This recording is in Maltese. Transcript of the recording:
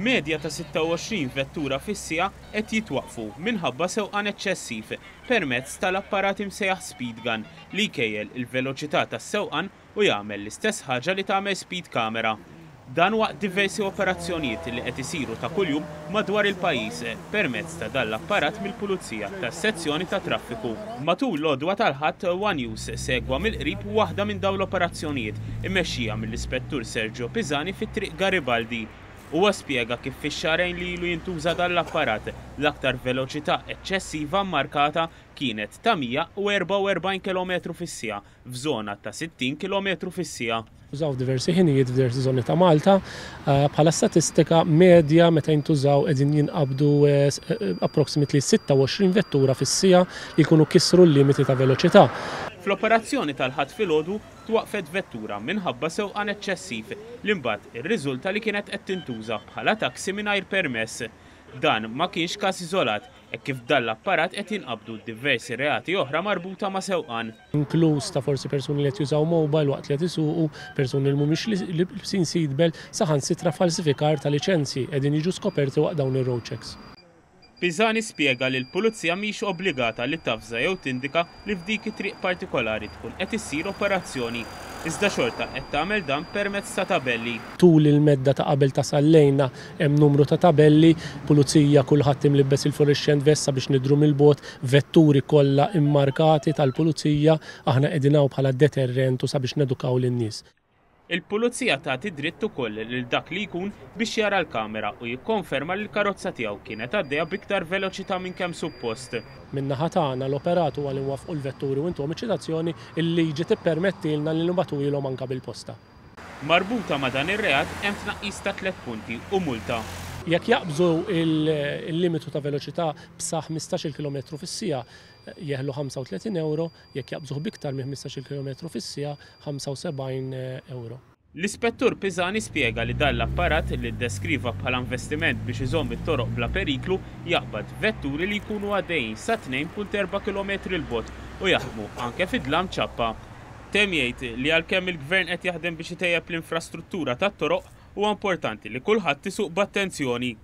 Medja ta' 26 vettura fis-siegħa qed jitwaqqfu minħabba sewqan eċċessiv permezz tal-apparat imsejjaħ speed gun li jkejjel il-veloċità tas-sewqan u jagħmel l-istess ħaġa li tagħmel speed camera. Dan waqt diversi operazzjonijiet li qed isiru ta' kuljum madwar il-pajjiż permezz ta' dan l-apparat mill-Pulizija tas-Sezzjoni tat-Traffiku. Matul l-għodwa tal-Ħadd, one News segwa mill-qrib waħda minn dawn l-operazzjonijiet immexxija mill-Ispettur Sergio Pisani fi Triq Garibaldi. Huwa spjega kif fix-xahrejn li ilu jintuża dan l-apparat, l-aktar veloċità eċċessiva mmarkata kienet ta' 144 kilometru fis-siegħa f'żona ta' 60 kilometru fis-siegħa. Użaw f'diversi ħinijiet f'diversi żoni ta' Malta. Bħala statistika medja meta jintużaw qegħdin jinqabdu approximately 26 vettura fis-siegħa li jkunu kisru l-limiti ta' veloċità. Fl-operazzjoni tal-Ħadd filgħodu twaqqfet vettura minħabba sewqan eċċessiv li mbagħad irriżulta li kienet qed tintuża bħala taxi mingħajr permess. Dan ma kienx każ iżolat hekk kif b'dan l-apparat qed jinqabdu diversi reati oħra marbuta ma' sewqan. Inkluż ta' forsi persuni li qed jużaw mobile waqt li qed isuqu, persuni li mhumiex libsin seatbelt, saħansitra falsifikar ta' liċenzji qegħdin jiġu skoperti waqt dawn ir-road checks. Pisani spjega li l-Pulizija mhix obbligata li tavża jew tindika li f'dik it-triq partikolari tkun qed issir operazzjoni, iżda xorta qed tagħmel dan permezz ta' tabelli. Tul il-medda ta' qabel tasal lejna hemm numru ta' tabelli, pulizija kulħadd imlibbes il-fluorescent vest sabiex nidhru mill-bogħod, vetturi kollha immarkati tal-pulizija, aħna qegħdin hawn bħala deterrent u sabiex nedukaw lin-nies. Il-Pulizija tagħti dritt ukoll lil dak li jkun biex jara l-kamera u jikkonferma li l-karozza tiegħu kienet għaddejja b'iktar veloċità minn kemm suppost. Min-naħa tagħna l-operat huwa li nwaffqu l-vetturi u ntuhom iċ-ċitazzjoni, il-liġi tippermettilna li nibagħtuhielhom anke bil-posta. Marbuta ma' dan ir-reat hemm tnaqqis ta' tlett punti u multa. Jekk jaqbżu l-limitu ta' veloċità b'sa 15-il kilometru fis-siegħa, jeħlu 35 ewro, jekk jaqbżuh b'iktar minn 15-il kilometru fis-siegħa, 75 ewro. L-Ispettur Pisani spjega li dan l-apparat, li ddeskriva bħala investiment biex iżomm it-toroq bla periklu, jaqbad vetturi li jkunu għaddejjin sa 2.4 kilometri 'l bogħod u jaħdmu anke fi dlam ċappa. Temm jgħid li għalkemm il-Gvern qed jaħdem biex itejjeb l-infrastruttura tat-toroq, huwa importanti li kulħadd isuq b'attenzjoni.